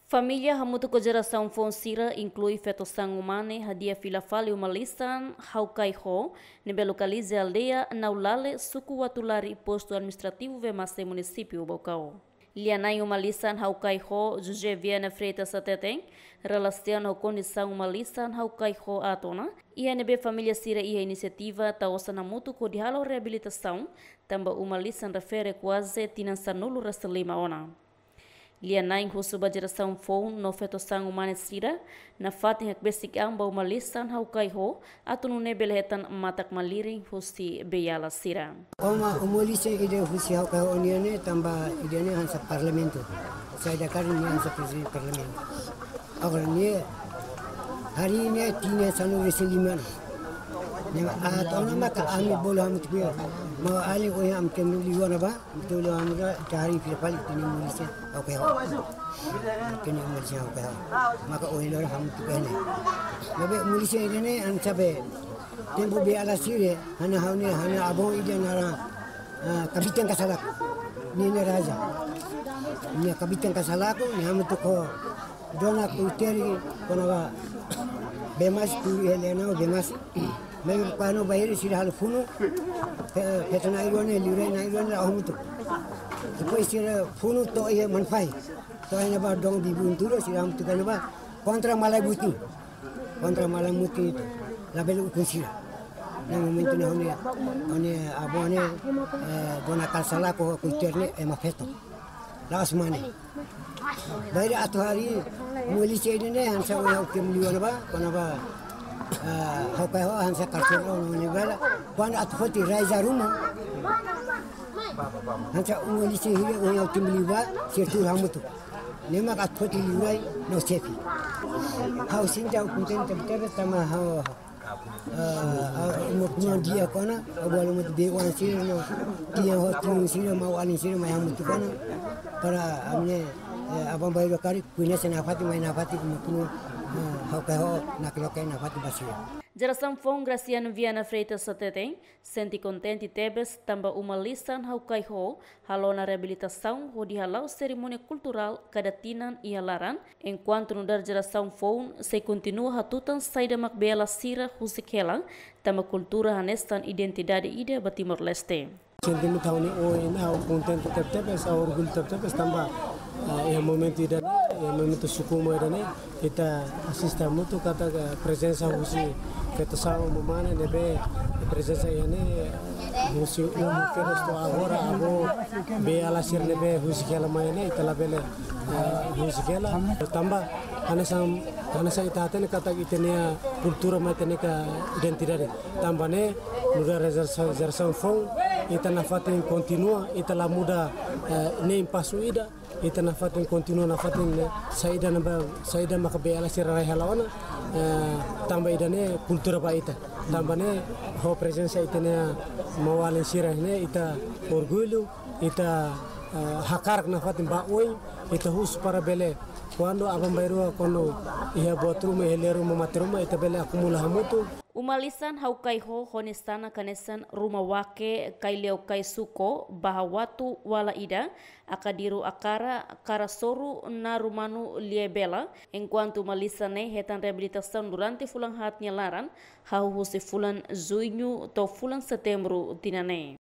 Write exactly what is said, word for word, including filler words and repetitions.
Família hamutuk ho jerasaun foun sira, inklui feto-saan Umane, hadi'a fila fali uma-lisan Hau Kai Ho, ne'ebé lokaliza aldeia Naulale, suku Uatulari, postu administrativu Vemasse, munisípiu Baucau. Lia-na'in uma-lisan Hau Kai Ho, José Viana Freitas hateten, relasiona ho kondisaun uma-lisan Hau Kai Ho aat ona, iha ne'ebé família sira iha inisiativa tau osan hamutuk hodi halo reabilitasaun, tanba uma-lisan refere kuaze tinan sanulu-resin-lima ona. Lia-na'in husu ba jerasaun foun no feto-saan Umane sira, nafatin hakbesik an ba uma-lisan Hau Kai Ho, atu nune'e bele hetan matak-malirin husi beiala sira. Uma, uma-lisan ida husi Hau Kai Ho nian ne'e, tanba ida-ne'e hanesan parlamentu. Saida karik nia hanesan prezidente parlamentu. Agora nia, harii ne'e tinan sanulu-resin-lima ona. Ne'e, ah, tau na maka ami bolu hamutuk ho nia. Maun-alin, ohin ami temi liu ona ba, ami temi liu ona ba, ita harii fila fali ita-nia uma-lisan Hau Kai Ho. Ita-nia uma-lisan Hau Kai Ho. Maka ohin loron hamutuk ho nia. Ne'ebé uma-lisan ida-ne'e hanesan be, tempu beiala sira, hanesan ha'u-nia, hanesan avó ida naran, ah, Kabitan Kasalaku. Nia ne'e raja. Nia Kabitan Kasalaku, nia hamutuk ho Dona Kuiteri, kona-ba Vemasse, tuur iha Lenau Vemasse. Maibé kuandu bainhira sira halo funu, fe-, feto na'in-rua ne'e, liurai na'in-rua ne'e la'o hamutuk. Depois sira funu to'o iha Manfai. To'o iha ne'ebá Dom Bibi Unturu, sira hamutuk iha ne'ebá. Kontra Malae Butin. Kontra Malae Butin ita. Labele ukun sira. Ne'e momentu ne'e ha'u-nia, ha'u-nia avó ne'e, eh, Dona Kasalaku ho Kuiteri ne'e ema feto. La'ós mane. Bainhira atu harii uma-lisan ida-ne'e hanesan ohin ha'u temi liu ona ba, kona-ba, ah, Hau Kai Ho hanesan karseru ona nia bela. Kuandu atu foti raiza ruma, hanesan uma-lisan hira ohin ha'u temi liu ba, sira tuur hamutuk. Ne'e mak atu foti liurai no xefe. Ha'u sente ha'u kontente tebetebes tanba ha'u, ah, ah, uma-konua di'ak ona, ha'u bolu mut be oan sira no, tinan ho tinan sira, maun-alin sira mai hamutuk ona. Para ami-nia, eh, aban-bainrua karik, koñese nafatin, mai nafatin uma-konua, ah, Hau Kai Ho, nakloke nafatin ba sira. Jerasaun foun Graciano Viana Freitas hateten, sente kontente tebes tanba uma-lisan Hau Kai Ho halo ona reabilitasaun hodi hala'o serimónia kulturál kada tinan iha laran, enkuantu nu'udar jerasaun foun sei kontinua hatutan saida mak beiala sira husik hela, tanba kultura hanesan identidade ida ba Timor-Leste. Sentimentu ha'u-nia oin, ha'u kontente tebetebes, ha'u orgullu tebetebes tanba, ah, iha momentu ida, iha momentu suku uma ida-ne'e, ita asiste hamutuk katak prezensa husi feto-saan Umane ne'ebé prezensa iha ne'e husi uma kedas to'o agora, avó beiala sira ne'ebé husik hela mai ne'e, ita labele, eh, husik hela. Tanba hanesan, hanesan ita hatene katak ita-nia kultura mak ita-nia identidade. Tanba ne'e, nu'udar jerasaun, jerasaun foun, ita nafatin kontinua, ita la muda, eh, nein pasu ida, ita nafatin kontinua nafatin, eh, saida ne'ebé, saida maka beiala sira rai hela ona, eh, tanba ida-ne'e kultura ba ita. Tanba ne'e ho prezensa ita-nia maun-alin sira ne'e ita orgullu, ita, eh, hakarak nafatin ba oin, ita husu para bele, kuandu aban-bainrua, kuandu iha buat ruma, iha lia ruma, mate ruma, ita bele akumula hamutuk. Uma-lisan Hau Kai Ho ho nia sanak hanesan Ruma Wake, Kai Leo Kai Suko, Baha Watu, Wala Ida, Akadiru Akara, Kara Soru, Naru Manu, Lie Bela, enkuantu uma-lisan ne'e hetan reabilitasaun durante fulan haat nia laran, hahú husi fulan Juñu to'o fulan Setembru tinan ne'e.